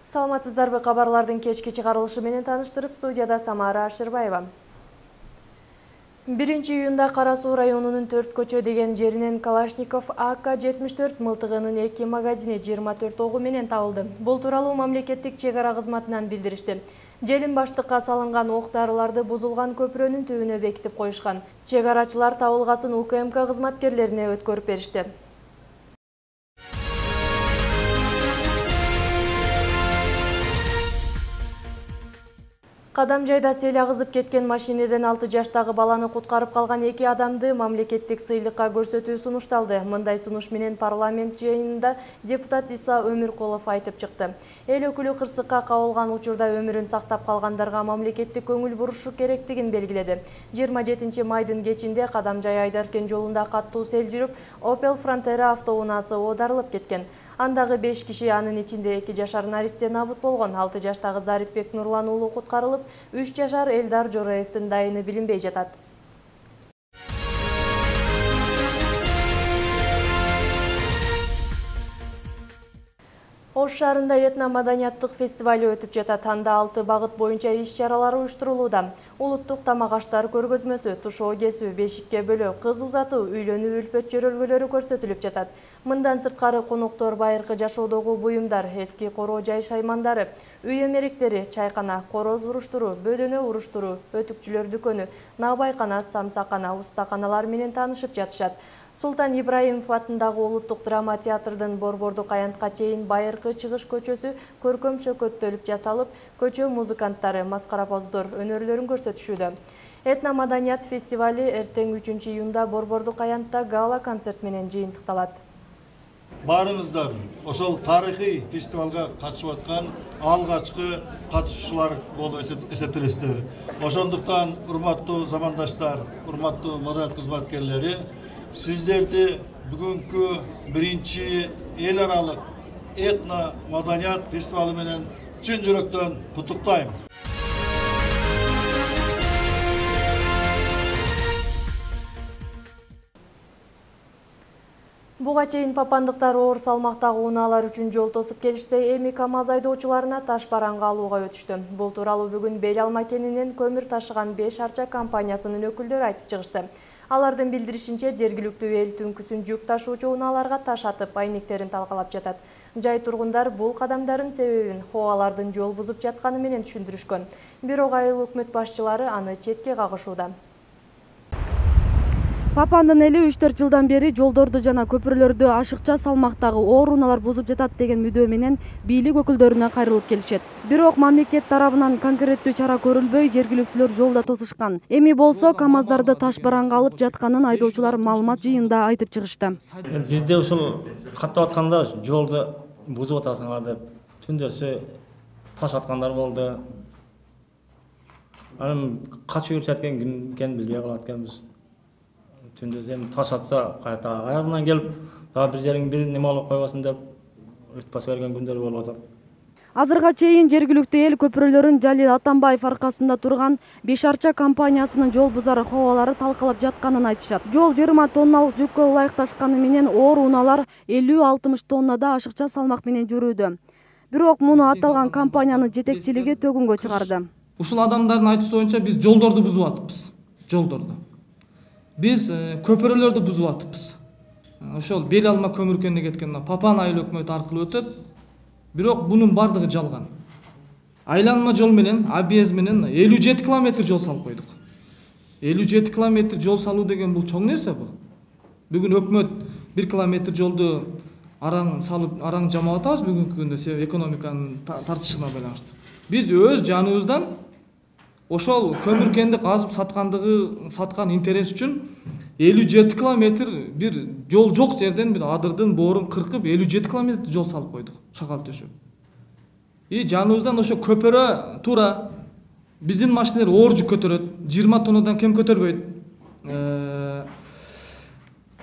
Саламатсыздарбы, кабарлардын кечки чыгарылышы менен тааныштырып, студияда Самара Ашырбаева. 1-июнда Кара Суу районунун 4 көчө деген жеринен Калашников АК-74 мылтыгынын 2 магазини 24 огу менен табылды. Бул тууралуу мамлекеттик чек ара кызматынан билдиришти. Желин баштыкка салынган ок-дарыларды бузулган көпүрөнүн түбүнө бекитип коюшкан. Чек арачылар табылгасын УКМК кызматкерлерине өткөрүп беришти. Кадам жайда сел агызып кеткен машинеден 6 жаштагы баланы куткарып калган 2 адамды мамлекеттик сыйлыкка көрсөтүү сунушталды. Мындай сунуш менен парламент жыйынында депутат Иса Өмүркулов айтып чыкты. Эл өкүлү кырсыкка кабылган учурда өмүрүн сактап калгандарга мамлекеттик көңүл бурушу керектигин белгиледи. 27 майдын кечинде Кадам жай Айдаркен жолунда каттуу сел жүрүп, Opel Frontera автоунаасы оодарылып кеткен. Андагы 5 киши, анын ичинде 2 жашар наристе набыт болгон. 6 жаштагы Зарипбек Нурлан уулу куткарылып, 3 жашар Элдар Жороевдин дайыны билинбей жатат. Ош шаарында этно-маданияттык фестивали өтүп жатат. Анда 6 багыт боюнча иш-чаралар уюштурулууда. Улуттук тамак аштар көргөзмөсү, тушоо кесүү, бешикке бөлөө, кыз узатуу, үйлөнүү үлпөт жөрөлгөлөрү көрсөтүлүп жатат. Мындан сырткары коноктор байыркы жашоодогу буюмдар, эски короо жай шаймандары, үй эмеректери, чайкана, короз уруштуруу, бөдөнө уруштуруу, өтүкчүлөр дүкөнү, набайкана, самсакана, устаканалар менен таанышып жатышат. Султан Ибраимов атындагы улуттук драма театрдын Борбордук аянтка чейин байыркы чыгыш көчөсү көркөм шөкөттөлүп жасалып, көчө музыканттары, маскарапоздор өнөрлөрүн көрсөтүшүүдө. Этно-маданият фестивали эртең 3-июнда Борбордук аянтта гала концерт менен жыйынтыкталат. Баарыңыздар ошол тарыхый фестивалга катышып аткан алгачкы катышуучулар болуп эсептелесиздер. Ошондуктан урматтуу замандаштар, урматтуу маданият кызматкерлери, сиздерди бүгүнкү 1-чи эл аралык этно-маданият фестивалы менен чын жүрөктөн куттуктайм. Буга чейин папандыктар оор салмактагы унаалар үчүн жол тосуп келишсе, эми КамАЗ айдоочуларына таш бараңга алууга өтүштү. Бул тууралуу бүгүн Бел Алма кенинен көмүр ташыган 5 арча компаниясынын өкүлдөрү айтып чыгышты. Алардын билдиришинче, жергиликтүү эл түнкүсүн жүк ташуучу унааларга таш атып, айнектерин талкалап жатат. Жай тургундар бул кадамдардын себебин хоалардын жол бузуп жатканы менен түшүндүрүшкөн. Бирок айыл өкмөт башчылары аны четке кагышууда. Папандын эли 3-4 жылдан бери жолдорду жана көпүрлөрдү ашыкча салмактагы оор унаалар бузуп жатат деген мүдөө менен бийлик өкүлдөрүнө кайрылып келишет. Бирок мамлекет тарабынан конкреттүү чара көрүлбөй, жергиликтүүлөр жолдо тосушкан. Эми болсо КамАЗдарды таш бараңга алып жатканын айдоочулар маалымат жыйында айтып чыгышты. Бизде ушул каттап атканда жолду бузуп атасыңар деп түндөсү таш аткандар болду. Анан качып жүрүшөткөн ким билбей калат экенбиз. Түндөсү эми таш атса кайта аягынан келип, дагы бир жериң бир неме алып койбосун деп өтүп баса берген күндөр болуп атат. Азырга чейин жергиликтүү эл көпүрөлөрүн Жалил Атамбаев аркасында турган 5 арча компаниясынын жол бузары ховалары талкалап жатканын айтышат. Жол 20 тонналык жүккө ылайыкташканы менен оор унаалар 50-60 тоннада ашыкча салмак менен жүрүүдө. Бирок муну аталган компаниянын жетекчилиги төгүнгө чыгарды. Ушул адамдардын айтуусу боюнча биз жолдорду бузуп атыппыз. Жолдорду. Биз көпүрөлөрдү бузуп атыппыз. Ошол Бел Алма көмүркөнүнө кеткен Папан айыл өкмөтү аркылуу өтөт. Бирок бунун бардыгы жалган. Айланма жол менен, объезд менен 57 километр жол салып койдук. 57 километр жол салуу деген бул чоң нерсе бул. Бүгүн өкмөт 1 километр жолду араң салып, араң жамап атабыз бүгүнкү күндө себеп экономиканын тартышына байланыштуу. Биз өз жаныбыздан ошол көмүркенди казып саткан интерес үчүн 57 километр бир жол жок жерден бир адырдын боорун кыркып 57 километр жол салып койдук, шакал төшөп. Жаныбыздан ошо көпөрө туура биздин машиналар оор жүк көтөрөт, 20 тоннадан кем көтөрбөйт.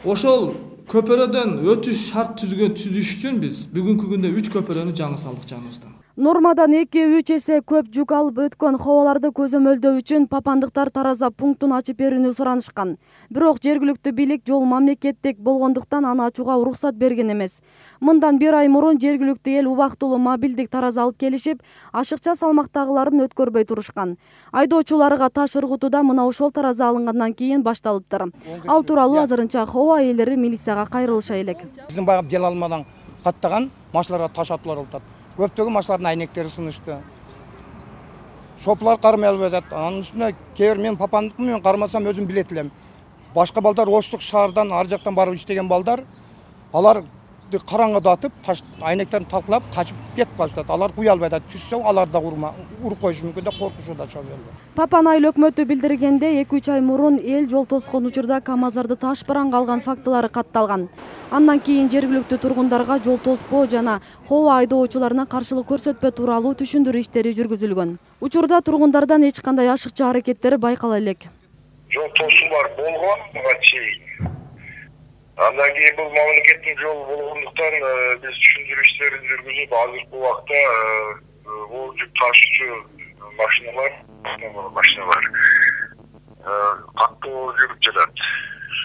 Ошол көпөрөдөн өтүш шарт түзүш үчүн биз бүгүнкү күндө 3 көпөрөнү жаңы салдык жаныбыздан. Нормадан 2-3 эсе көп жүк алып өткөн хобаларды көзөмөлдөө үчүн папандыктар тараза пунктун ачып берүүнү суранышкан. Бирок жергиликтүү бийлик жол мамлекеттик болгондуктан аны ачууга уруксат берген эмес. Мындан 1 ай мурун жергиликтүү эл убактылуу мобилдик тараза алып келишип, ашыкча салмактагыларын өткөрбөй турушкан. Айдоочуларга таш ыргытууда мына ошол тараза алынгандан кийин башталыптыр. Ал тууралуу азырынча хоба ээлери милицияга кайрылыша элек. Биздин баягы дел алмадан каттаган машиналарга таш атуулар болуп атат. Көптөгөн машиналардын айнектери сынышты. Шоплар кармай албай атат. Анын үстүнө кээ бир мен папандыкмын, мен кармасам өзүм билет элем. Башка балдар Оштук шаардан ар жактан барып иштеген балдар, алар караңгыда атып, айнектерин талкалап качып кетип калышат. Алар куя албай атат. Түшсө алар да уруп коюшу мүмкүн деп коркушууда шоферлор. Папан айыл өкмөтү билдиргенде 2-3 ай мурун эл жол тоскон учурда КАМАЗдарды таш бараңга алган фактылары катталган. Андан кийин жергиликтүү тургундарга жол тоспоо жана хоба айдоочуларына каршылык көрсөтпөө тууралуу түшүндүрүү иштери жүргүзүлгөн. Учурда тургундардан эч кандай ашыкча аракеттер байкала элек. Жол тосуулар болгон буга чейин. Андан кийин бул мамлекеттик жол болгондуктан биз түшүндүрүү иштерин жүргүзүп, азыркы убакта бул жүк ташуучу машиналар каттуу жүрүп жатат.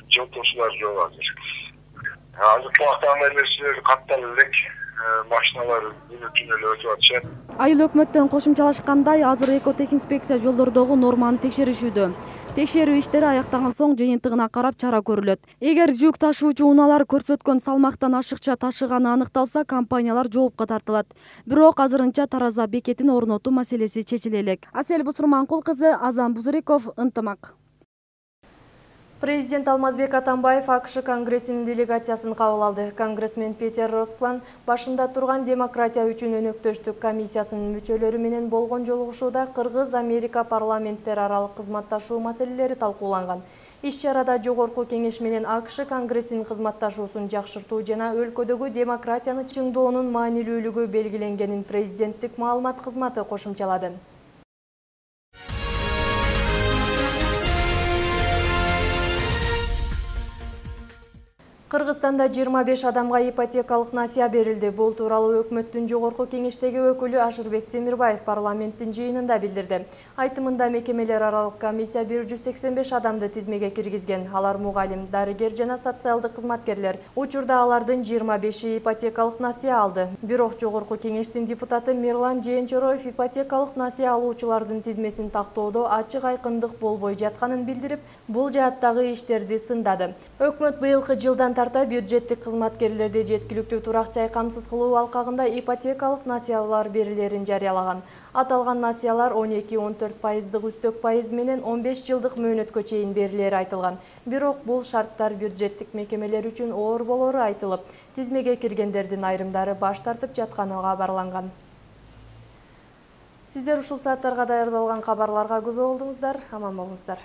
Жол тосуулар жок азыр. Азыркы убакта андай нерселер катталып элек, машиналар күнү-түнү эле өтүп атышат. Айыл өкмөттөн кошумчалашкандай, азыр экотехинспекция жолдордогу норманы текшеришүүдө. Текшерүү иштери аяктаган соң жыйынтыгына карап чара көрүлөт. Эгер жүк ташуучу унаалар көрсөткөн салмактан ашыкча ташыганы аныкталса, компаниялар жоопко тартылат. Бирок азырынча тараза бекетин орнотуу маселеси чечиле элек. Асель Бусурманкул кызы, Азам Бузуриков, Ынтымак. Президент Алмазбек Атамбаев АКШ Конгрессинин делегациясын кабыл алды. Конгрессмен Петер Росклан башында турган демократия үчүн өнөктөштүк комиссиясынын мүчөлөрү менен болгон жолугушууда Кыргыз-Америка парламенттер аралык кызматташуу маселелери талкууланган. Иш-чарада жогорку кеңеш менен АКШ Конгрессинин кызматташуусун жакшыртуу жана өлкөдөгү демократияны чыңдоонун маанилүүлүгү белгиленгенин президенттик маалымат кызматы кошумчалады. Кыргызстанда 25 адамга ипотекалык насыя берилди. Бул тууралуу өкмөттүн жогорку кеңештеги өкүлү Ашырбек Темирбаев парламенттин жыйынында билдирди. Айтымында мекемелер аралык комиссия 185 адамды тизмеге киргизген. Алар мугалим, дарыгер жана социалдык кызматкерлер. Учурда алардын 25 ипотекалык насыя алды. Бирок жогорку кеңештин депутаты Мирлан Жээнчороев ипотекалык насыя алуучулардын тизмесин тактоодо ачык айкындык болбой жатканын билдирип, бул жааттагы иштерди сындады. Өкмөт быйылкы жылдан тарта бюджеттик кызматкерлерди жеткиликтүү турак жай камсыз кылуу алкагында ипотекалык насыялар берилерин жарыялаган. Аталган насыялар 12-14% үстөк пайыз менен 15 жылдык мөөнөткө чейин берилери айтылган. Бирок бул шарттар бюджеттик мекемелер үчүн оор болору айтылып, тизмеге киргендердин айрымдары баш тартып жатканы кабарланган. Сиздер ушул сааттарга даярдалган кабарларга күбө болдуңуздар, аман болуңуздар.